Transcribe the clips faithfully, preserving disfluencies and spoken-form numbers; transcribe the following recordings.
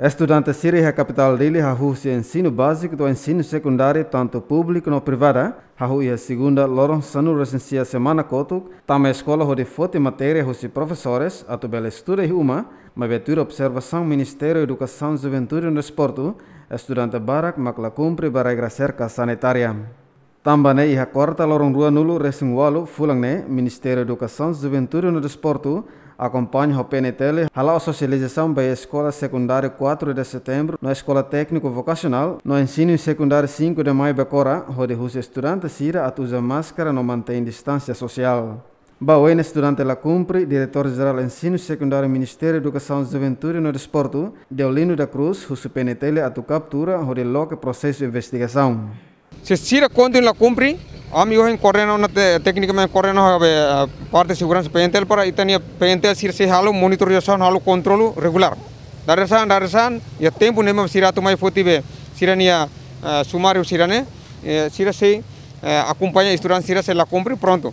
Estudante sira iha kapitál Dili hahú husi ensinu báziku to'o ensinu sekundáriu tantu públiku no privada, hahú iha segunda loron sanulu-resin-sia semana kotuk, tama eskola hodi foti matéria husi profesores atu bele estuda iha uma, maibé tuir observasaun Ministériu Edukasaun, Juventude no Desportu, estudante barak mak la kumpre ba regra serka sanitária. Tanba ne'e iha kuarta loron ruanulu-resin-ualu fulan ne'e, Ministériu Edukasaun, Juventude no Desportu akompaña ho P N T L hala'o sosializasaun ba eskola sekundáriu quatro de Setembro no eskola tékniku vokasionál no ensinu sekundáriu cinco de Maio Becora, hodi husu estudante sira atu uza máskara no mantein distánsia sosiál. Ba oin estudante la kumpre, Diretór Jerál Ensinu Sekundáriu Ministériu Edukasaun, Juventude no Desportu, Deolino da Cruz, husu P N T L atu kaptura hodi loke prosesu investigasaun. Se sira kontinua la kumpre, ami ohin koordena ona te-, teknikamente koordena ho, eh, parte seguransa P N T L para ita-nia P N T L sira sei halo monitorizasaun, halo kontrolu regulár. Dadeer-saan, dadeer-saan, iha tempu ne'ebé sira atu mai foti be sira-nia, eh, sumáriu sira-ne'e, eh, sira sei, eh, akompaña estudante sira se la kumpre, prontu.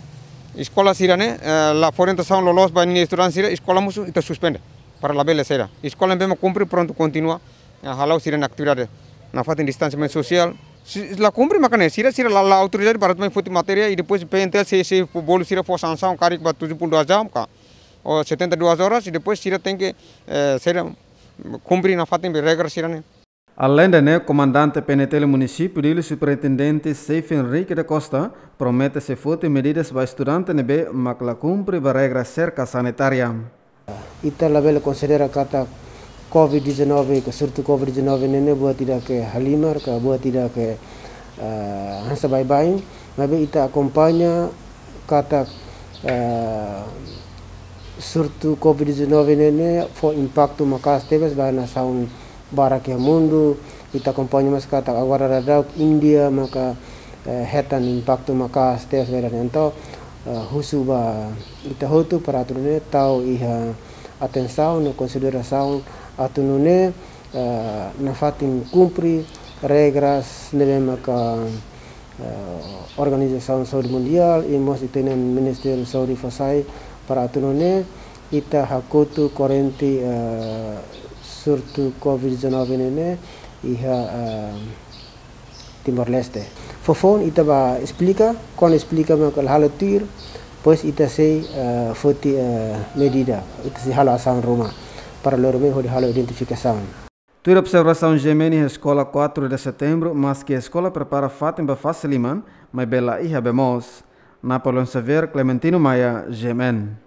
Eskola sira-ne'e, eh, la fó orientasaun loloos ba ninia estudante sira, eskola mosu ita suspende. Para labele sira. Eskola ne'ebé mak kumpre, prontu, kontinua, eh, hala'o sira-nia atividade nafatin distansiamentu sosiál. Se la kumpre maka ne'e, sira, sira la, la autorizadu para mai foti matéria i depois P N T L sei, sei bolu sira fó sansaun karik ba tujuh puluh dua jam ka, ou setenta e duas horas, i depois sira tenke, eh, sira kumpre nafatin be regra sira-ne'e. Aleinde ne'e, Komandante P N T L Munisípiu Dili, Superintendente Seif Henrique da Costa, promete sei foti medidas ba estudante ne'ebé mak la kumpre ba regra serka sanitária. Ita labele konsidera katak covid dezanove, ka surtu covid dezanove ne'e, ne'e buat ida ke halimar, ka buat ida ke, eh, hanesan baibain, maibé ita akompaña katak, eh, surtu covid dezanove ne'e, ne'e fó impaktu maka'as tebes ba nasaun barak iha mundu. Ita akompaña mós katak agora daudaun Índia maka, eh, hetan impaktu maka'as tebes ba ida-ne'e. Entaun, eh, husu ba ita hotu para atu nune'e tau iha atensaun no konsiderasaun atu nune'e, eh, nafatin kumpre regras ne'ebé maka, eh, Organizasaun Saúde Mundiál i mós ita-nia Ministériu Saúde fó sai para atu nune'e ita hakotu korrente, eh, surtu covid dezanove ne'e, ne'e iha, eh, Timor-Leste. Foufoun ita bá esplika, kuandu esplika mak la halo tuir, depois ita sei, eh, foti, eh, medida, ita sei halo asaun ruma para lori mai hodi halo identifikasaun. Tuir observasaun G M N iha eskola quatro de Setembro, maski eskola prepara fatin ba fase liman, maibé la iha bee moos. Napoleon Xavier, Clementino Maia, G M N.